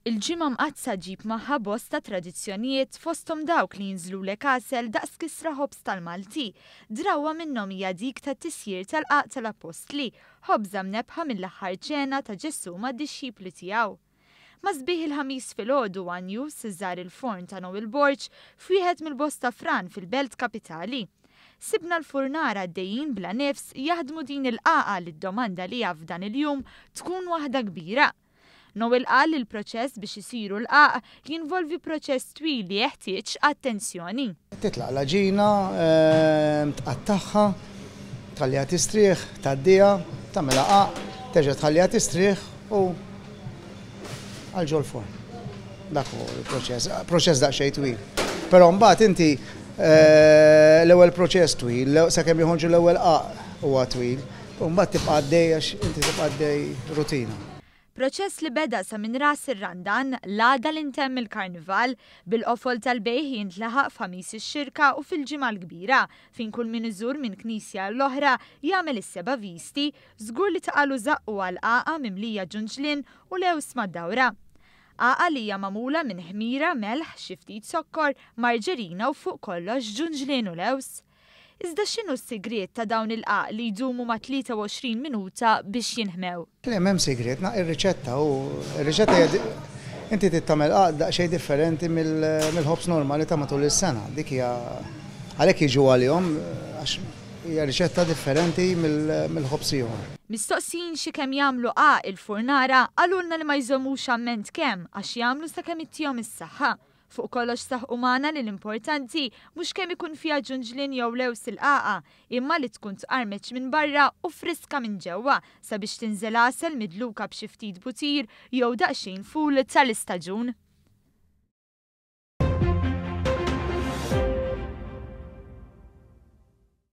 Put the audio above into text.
Il-Ġimgħa Mqaddsa ġġib magħha bosta tradizzjonijiet fosthom dawk li jinżlulek għasel daqs kisra ħobż tal-Malti. Drawwa minnhom hija dik tat-tisjir tal-qagħaq tal-Appostli, ħobża mnebbħa mill-aħħar ċena ta' Ġesù mad-dixxipli tiegħu. Ma' sbieħ il-Ħamis filgħodu one News żar il-forn ta' Noel Borg f'wieħed mill-bosta fran fil-belt kapitali. Sibna l-furnara għaddejjin bla nifs jaħdmu din il-qagħqa li d-domanda għaliha f'dan il-jum tkun waħda kbira. Noel qal li l-proċess biex isiru l-qagħaq jinvolvi proċess twil li jeħtieġ attenzjoni. Titlaq l-għaġina, tqattagħha, tħalliha tistrieħ, tgħaddiha, tagħmilha qagħaq, terġa' tħalliha tistrieħ u għal ġol-forn. Dak hu l-proċess, proċess daqsxejn twil. Però mbagħad inti l-ewwel proċess twil, sakemm joħorġu l-ewwel qagħaq huwa twil, u mbagħad tibqa' għaddej għax inti tibqa' għaddej rutina. Proċess li beda sa minn ras ir-Randan, l-għada li ntemm il-Karnival, bil-qofol tal-bejgħ jintlaħaq f'Ħamis ix-Xirka u fil-Ġimgħa l-Kbira, fejn kull min iżur minn knisja għall-oħra jagħmel is-seba' visti, żgur li taqalu żaqqu għal qagħqa mimlija ġunġlien u lewż mad-dawra. Qagħqa li hija magħmula minn ħmira, melħ, xi ftit zokkor, marġerina u fuq kollox ġunġlien u lewż. Iżda x'inhu s-sigriet ta' dawn il-qagħaq li jdumu ma' 23 minuta biex jinħmew? Le, m'hemm sigriet, ir-riċetta hu, ir-riċetta hija inti trid tagħmel qagħaq daqsxejn differenti mill-ħobż normali ta' matul is-sena. Dik hija għalhekk jiġu għalihom għax hija riċetta differenti mill-ħobż ieħor. Mistoqsijin xi kemm jagħmlu qagħaq il-furnara, qalulna li ma jżommux amment kemm għax jagħmlu sakemm ittihom is-saħħa. Fuq kollox saħqu magħna li l-importanti mhux kemm ikun fiha ġunġlien jew lewż il-qagħqa, imma li tkun tqarmeċ minn barra u friska minn ġewwa sabiex tinżel għasel midluka b'xi ftit butir jew daqsxejn ful tal-istaġun.